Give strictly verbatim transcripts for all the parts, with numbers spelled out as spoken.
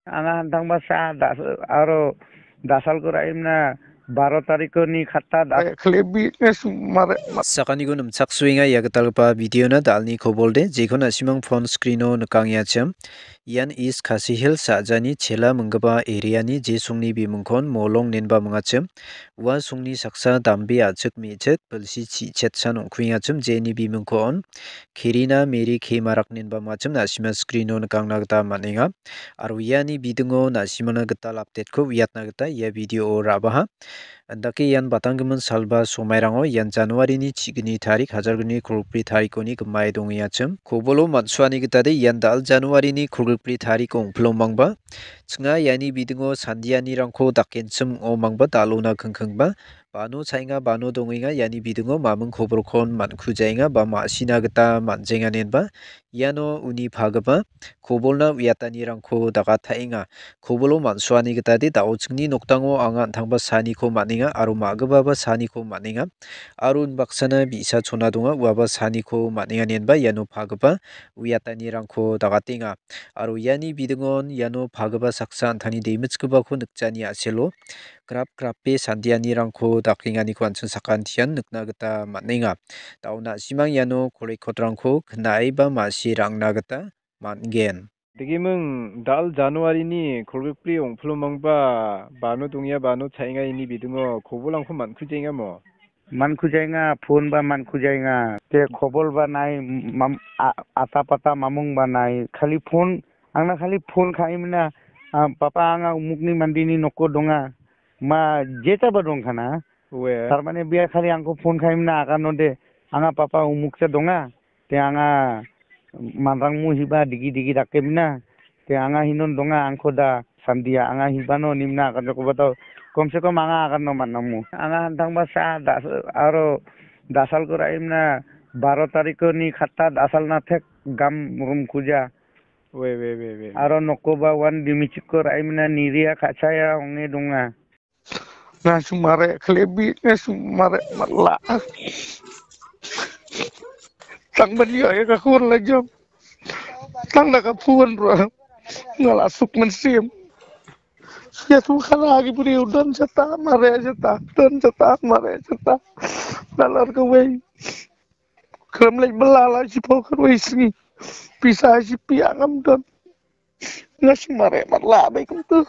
Anga hantangba sa das-, aro dasalko ra·emna baro tarikoni khatta das- Ai, khlebi, eh, sumare, ma- Sakaniko nimchaksoenga ia gitalgipa videona dalni kobolde, jekon na·simang phone screeno nikangenga chim. Ian East Khasi Hills sa·jani chela minggipa areani je songni bimingkon Molong inenba mingachim. Ua songni saksa dambe a·chik me·chik bilsi chi·chetsan ong·kuengachim, jeni bimingkon Kerina Mary K Marak inenba mingachim, na·sima screeno nikangna gita man·enga. Aro iani bidingo na·simana gital updateko uiatna gita ia videoo ra·baha. Indake ian batanggimin salba somairango ian Januarini chigni tarik, hajar gni kolgripi tarikoni gimae dongengachim. Kobolo man·suani gitade ian dal Januarini kolgripi tarik ong·pilonmangba. Chinga iani bidingo sandianirangko dakenchim ong·omangba dal·ona kingkingba. Bano cha·enga, bano dongenga, iani bidingo maming kobolkon man·kujaenga ba ma·sina gita man·jenga inenba iano uni pagipa kobolna uiatanirangko dagataenga. Kobolo man·suani gitade da·o chingni nokdango anga an·tangba saniko man·enga aro ma·gipaba saniko man·enga. Aro unbaksana bi·sa chona donga, uaba saniko man·enga inenba iano pagipa uiatanirangko dagatenga. Aro iani bidingon iano pagipa saksa an·tangni demitchipako nikjani a·selo grap grape sandianirangko dakenganiko an·ching sakantian nikna gita man·enga. Da·o na·simang iano kolikotrangko knae ba ma·sie ra·angna gita man·gen. Degiming dal Januarini kolgrikbri ong·pilonmangba bano dongenga, bano cha·enga ini bidingo kobolrangko man·kujaengamo? Man·kujaenga, phone ba man·kujaenga. Te kobol ba nai, mam-, a-, ata pata mamung ba nai. Khali phone, angna khali phone ka·emina, ah, "Papa, anga umukni mandini noko donga." Ma, jeta ba dongkana. Ue. Tarmane bia khali angko phone ka·emina aganode, "Anga papa umuksa donga." Te anga manrangmu hiba digi digi dakemina. Te anga hinon donga angko da sandia anga hibano nimna akan joko batao. Kom se kom anga akan no manangmu. Anga hantangba sa das-, aro dasalko ra·emna baro tarikoni khatta dasalna thek gam rum kuja. Ue, ue, ue, ue. Aro nokoba wan dimichiko ra·emna niria ka·chaya onge donga. Nga sumare khlebi, nga sumare mala. Tang bani ya ka khur la jam. Tang na ka phuan ro. Nga la suk men sim. Ya tu khala agi puri udan jata, mare jata, udan jata, mare jata. Dalar ka wei. Kram lai bela la si pau ka wei singi. Pisa si pi angam don. Nga sumare mala bai kum tu.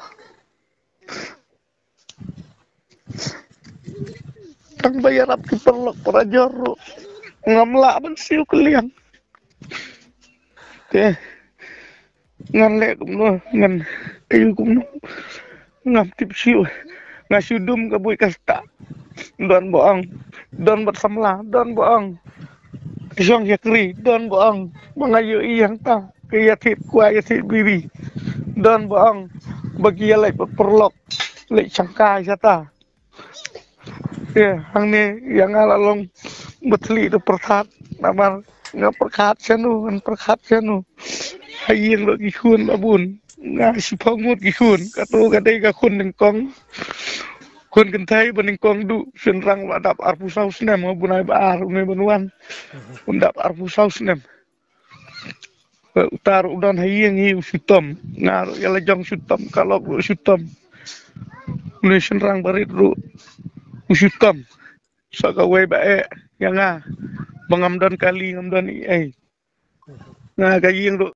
Tang bayar ap ki perlok para jor ro. Ngam la ban siu keliang. Te. Ngan le kumno, ngan ayu kumno. Ngam tip siu. Nga siu dum ka bui kasta. Don boang. Don bat samla. Don boang. Siong yakri. Don boang. Mangayu iyang ta. Kaya tip kua ya tip biri. Don boang. Bagi ya lai perlok. Lai sangka ya ta. Ya, angni yang ala long betli tu perkat. Namar nga perkat senu, ngan perkat senu. Haying lo gihun babun. Nga sipong mut gihun. Katu kadai ka khun nengkong. Khun kentai ba nengkong du. Senrang ba dap arpu saus nem. Bunai ba ar, unai banuan. Undap arpu saus nem. Utar udan haying hi usutom. Ngar yala jong sutom. Kalok ru sutom. Uni senrang barit ru usutom. Saka wai ba e. Yanga. Bangam dan kali ngam dan i ai. Nga kaying ru.